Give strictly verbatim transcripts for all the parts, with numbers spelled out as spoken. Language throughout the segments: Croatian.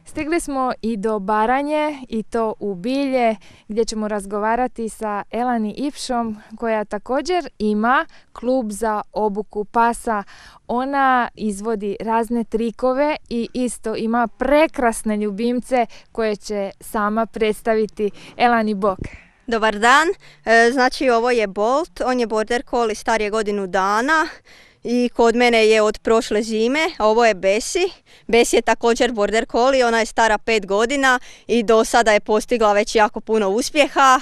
Stigli smo i do Baranje, i to u Bilje, gdje ćemo razgovarati sa Elani Ipšom, koja također ima klub za obuku pasa. Ona izvodi razne trikove i isto ima prekrasne ljubimce koje će sama predstaviti. Elani, bok. Dobar dan, e, znači ovo je Bolt, on je border collie, star je godinu dana. I kod mene je od prošle zime, a ovo je Besi. Besi je također border collie, ona je stara pet godina i do sada je postigla već jako puno uspjeha.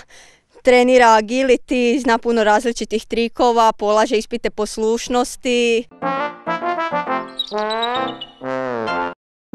Trenira agility, zna puno različitih trikova, polaže ispite poslušnosti.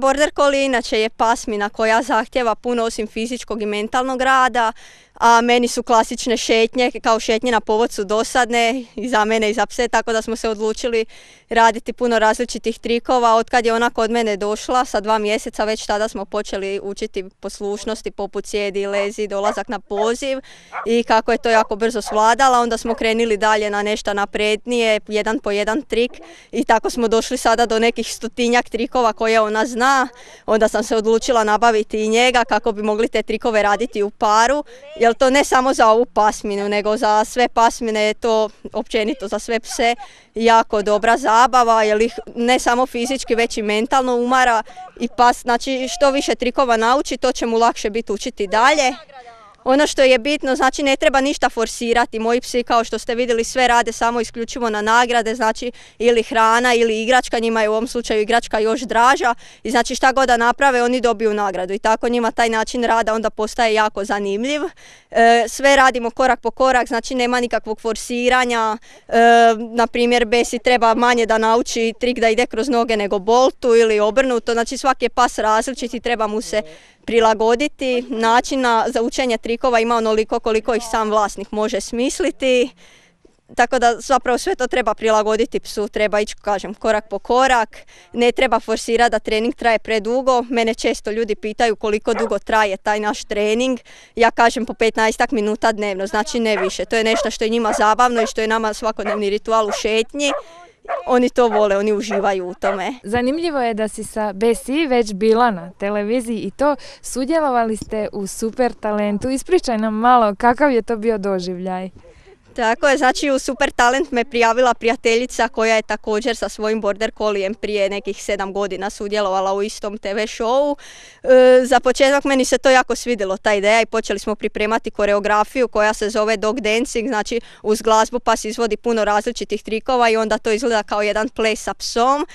Border collie inače je pasmina koja zahtjeva puno osim fizičkog i mentalnog rada, a meni su klasične šetnje, kao šetnje na povodcu dosadne i za mene i za pse, tako da smo se odlučili raditi puno različitih trikova. Od kad je ona kod mene došla, sa dva mjeseca, već tada smo počeli učiti poslušnosti poput sjedi, lezi, dolazak na poziv i kako je to jako brzo svladala, onda smo krenuli dalje na nešto naprednije, jedan po jedan trik i tako smo došli sada do nekih stotinjak trikova koje ona zna. Onda sam se odlučila nabaviti i njega kako bi mogli te trikove raditi u paru. Jer to ne samo za ovu pasminu, nego za sve pasmine je to općenito za sve pse jako dobra zabava, jer ih ne samo fizički već i mentalno umara i pas, znači što više trikova nauči, to će mu lakše biti učiti dalje. Ono što je bitno, znači ne treba ništa forsirati, moji psi kao što ste vidjeli sve rade samo isključivo na nagrade, znači ili hrana ili igračka, njima je u ovom slučaju igračka još draža i znači šta god da naprave oni dobiju nagradu i tako njima taj način rada onda postaje jako zanimljiv. E, sve radimo korak po korak, znači nema nikakvog forsiranja, e, na primjer Besi treba manje da nauči trik da ide kroz noge nego Boltu ili obrnuto, znači svaki je pas različit i treba mu se prilagoditi. Načina za učenje trikova ima onoliko koliko ih sam vlasnik može smisliti. Tako da zapravo sve to treba prilagoditi psu, treba ići, kažem, korak po korak. Ne treba forsirati da trening traje predugo. Mene često ljudi pitaju koliko dugo traje taj naš trening. Ja kažem po petnaestak minuta dnevno, znači ne više. To je nešto što je njima zabavno i što je nama svakodnevni ritual u šetnji. Oni to vole, oni uživaju u tome. Zanimljivo je da si sa Besi već bila na televiziji i to sudjelovali ste u Super talentu. Ispričaj nam malo kakav je to bio doživljaj. Tako je, znači u Super talent me prijavila prijateljica koja je također sa svojim border collijem prije nekih sedam godina sudjelovala u istom te ve showu. E, za početak meni se to jako svidjelo, ta ideja, i počeli smo pripremati koreografiju koja se zove dog dancing, znači uz glazbu pas izvodi puno različitih trikova i onda to izgleda kao jedan ples sa psom.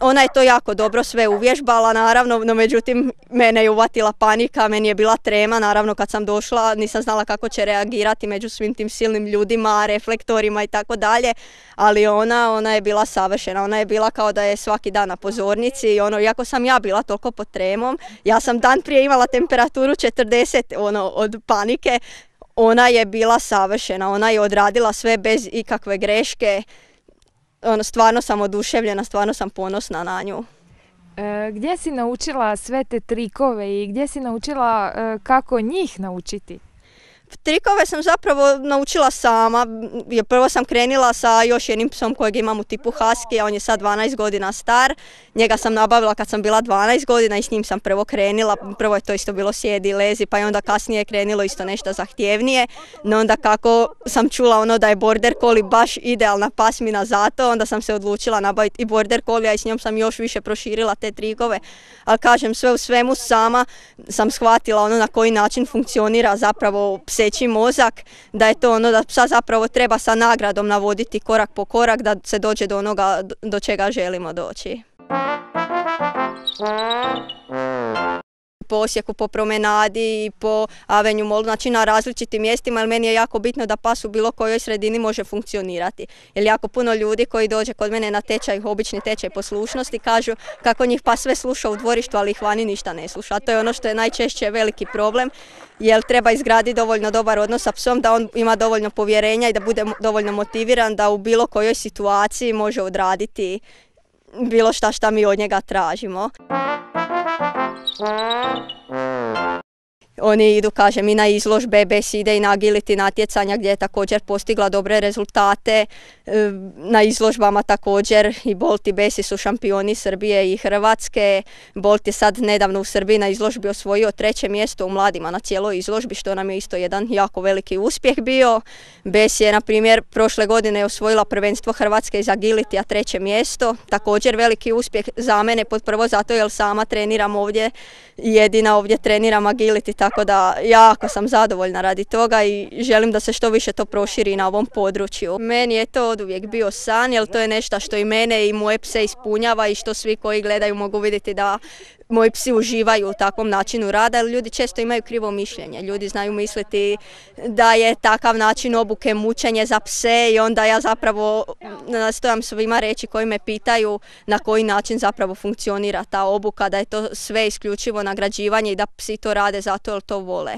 Ona je to jako dobro sve uvježbala, naravno, no međutim mene je uvatila panika, meni je bila trema, naravno kad sam došla nisam znala kako će reagirati među svim tim silnim ljudima, reflektorima i tako dalje, ali ona, ona je bila savršena, ona je bila kao da je svaki dan na pozornici i ono, iako sam ja bila toliko pod tremom, ja sam dan prije imala temperaturu četrdeset ono, od panike, ona je bila savršena, ona je odradila sve bez ikakve greške. Ono, stvarno sam oduševljena, stvarno sam ponosna na nju. E, gdje si naučila sve te trikove i gdje si naučila e, kako njih naučiti? Trikove sam zapravo naučila sama, jer prvo sam krenila sa još jednim psom kojeg imam u tipu husky, a on je sad dvanaest godina star. Njega sam nabavila kad sam bila dvanaest godina i s njim sam prvo krenila. Prvo je to isto bilo sjedi, lezi, pa je onda kasnije je krenilo isto nešto zahtjevnije. No onda kako sam čula ono da je border collie baš idealna pasmina za to, onda sam se odlučila nabaviti i border collie i s njom sam još više proširila te trikove. Ali kažem, sve u svemu sama sam shvatila ono na koji način funkcionira zapravo pseći mozak, da je to ono da psa zapravo treba sa nagradom navoditi korak po korak da se dođe do onoga do čega želimo doći. Po Osijeku, po promenadi, po Avenue Mallu, znači na različitim mjestima, jer meni je jako bitno da pas u bilo kojoj sredini može funkcionirati. Jer jako puno ljudi koji dođe kod mene na tečaj, obični tečaj poslušnosti, kažu kako njih pas sve sluša u dvorištu, ali ih vani ništa ne sluša. A to je ono što je najčešće veliki problem, jer treba izgraditi dovoljno dobar odnos sa psom, da on ima dovoljno povjerenja i da bude dovoljno motiviran da u bilo kojoj situaciji može odraditi bilo šta šta mi od njega tražimo. Oni idu, kažem, i na izložbe, Bes ide i na agility natjecanja gdje je također postigla dobre rezultate. Na izložbama također i Bolt i Besi su šampioni Srbije i Hrvatske. Bolt je sad nedavno u Srbiji na izložbi osvojio treće mjesto u mladima na cijeloj izložbi, što nam je isto jedan jako veliki uspjeh bio. Bes je, na primjer, prošle godine osvojila prvenstvo Hrvatske iz agility, a treće mjesto. Također veliki uspjeh za mene, prvo zato jer sama treniram ovdje, jedina ovdje treniram agility, tako da jako sam zadovoljna radi toga i želim da se što više to proširi na ovom području. Meni je to oduvijek bio san, jer to je nešto što i mene i moje pse ispunjava i što svi koji gledaju mogu vidjeti da moji psi uživaju u takvom načinu rada, jer ljudi često imaju krivo mišljenje. Ljudi znaju misliti da je takav način obuke mučenje za pse i onda ja zapravo nastojam svima reći koji me pitaju na koji način zapravo funkcionira ta obuka, da je to sve isključivo nagrađivanje i da psi to rade zato jer to vole.